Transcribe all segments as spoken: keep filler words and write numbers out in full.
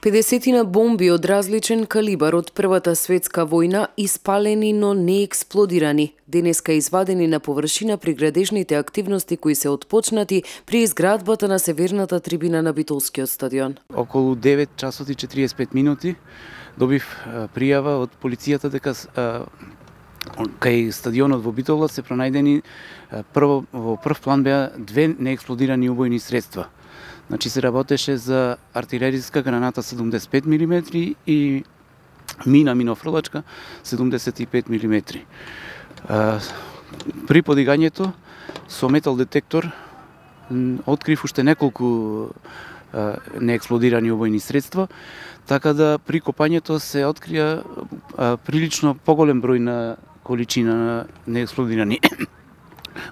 педесетина бомби од различен калибар од Првата светска војна испалени, но не експлодирани. Денеска извадени на површина при градежните активности кои се отпочнати при изградбата на северната трибина на Битолскиот стадион. Околу девет часот и четириесет и пет минути добив пријава од полицијата дека кај стадионот во Битола се пронајдени прво во прв план беа две неексплодирани убојни средства. Значи се работеше за артилериска граната седумдесет и пет милиметри и мина минофрлачка седумдесет и пет милиметри. При подигањето со метал детектор открив уште неколку неексплодирани убојни средства, така да при копањето се открија прилично поголем број на количина на неексплодирани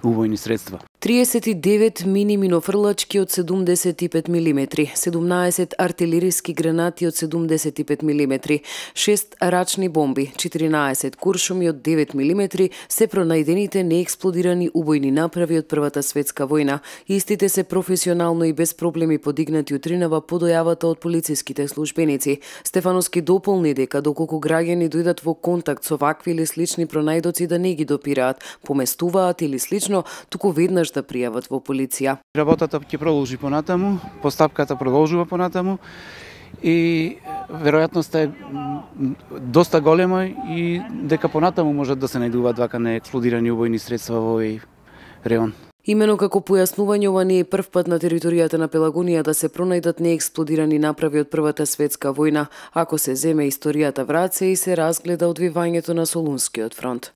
убојни средства. триесет и девет мини минофрлачки од седумдесет и пет милиметри, седумнаесет артилериски гранати од седумдесет и пет милиметри, шест рачни бомби, четиринаесет куршуми од девет милиметри се пронајдените неексплодирани убојни направи од Првата светска војна. Истите се професионално и без проблеми подигнати утринава по дојавата од полициските службеници. Стефановски дополни дека доколку граѓани дојдат во контакт со вакви или слични пронајдоци да не ги допираат, поместуваат или слично, туку веднаш да пријават во полиција. Работата ќе продолжи понатаму, постапката продолжува понатаму и веројатноста е доста голема и дека понатаму можат да се најдуваат вака неексплодирани убојни средства во овој реон. Имено како појаснување, ова не е прв пат на територијата на Пелагонија да се пронајдат неексплодирани направи од Првата светска војна, ако се земе историјата враце и се разгледа одвивањето на Солунскиот фронт.